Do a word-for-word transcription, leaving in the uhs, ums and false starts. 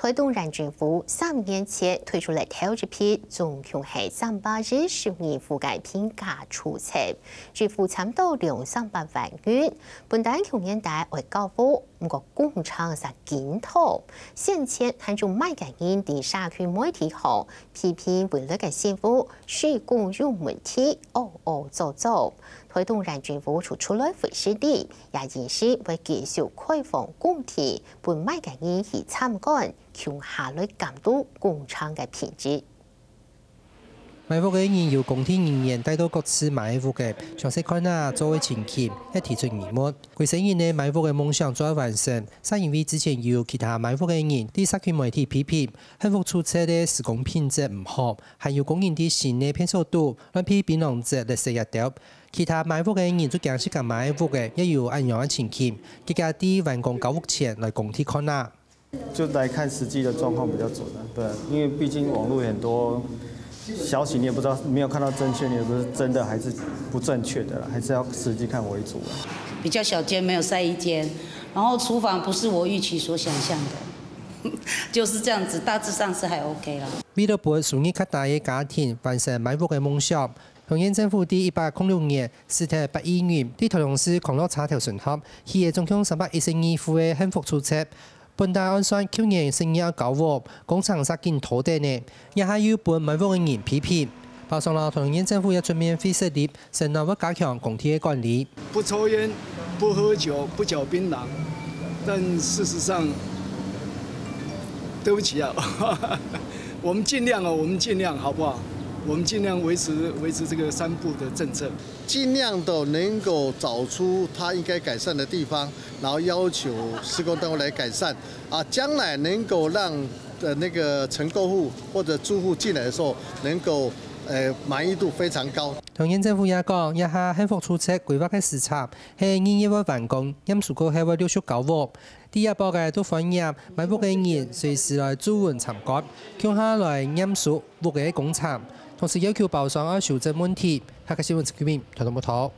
台東縣政府三年前推出了頭一批，總共係三百一十二戶个平價住宅，支付差毋多兩三百萬元，本來舊年底會交屋，毋過工程煞緊拖，先前還有麼个人在社區媒體項批評未來个政府施工有問題，嗷嗷作作。台東縣政府就出來回信了，也暗示會繼續開放工地，分麼个人去參觀，共下來監督工程个品質。買屋个人由工地人員帶到各自買个屋个詳細看啊，做个情形，也提出疑問。歸世人个買屋个夢想做得完成，煞因為之前有其他買屋个人在社區媒體批評，幸福住宅个施工品質毋好，還有工人在新个便所肚亂撇檳榔汁、垃圾這兜。其他買屋个人就驚自家買个屋个也有恁樣个情形，結果在完工交屋前來工地看啊。 就來看實際的狀況比較準啊，對啊，因為畢竟網路有很多消息，你也不知道，沒有看到正確，你也不是真的還是不正確的啦，還是要實際看為主啊。比較小間，沒有曬衣間，然後廚房不是我預期所想象的，就是這樣子，大致上是還OK啦。為了分收入較低个家庭完成買屋个夢想，桃園政府在一百空六年，使得八億元在台東市康樂車頭村項起个總共三百一十二戶个幸福住宅。 本來按算舊年十二月交屋，工程煞緊拖等呢，這下又分買屋个人批評。包商摎桃園縣政府也出面會設立承諾會加強工地个管理。不抽煙、不喝酒、不嚼檳榔，但事實上，對不起啊，我們盡量哦，我們盡量好不好？我們盡量維持維持這個三不的政策。 盡量的能夠找出它應該改善的地方，然後要求施工單位來改善啊，將來能夠讓呃那個承購戶或者住戶進來的時候，能夠呃滿意度非常高。桃園政府也講，這下幸福住宅規劃个時程係二月會完工，驗收過後會陸續交屋。在這駁个都歡迎買屋个人隨時來駐村參觀，共下來驗收屋个工程，同時要求包商愛修正問題。客家新聞陳居明，台東報導。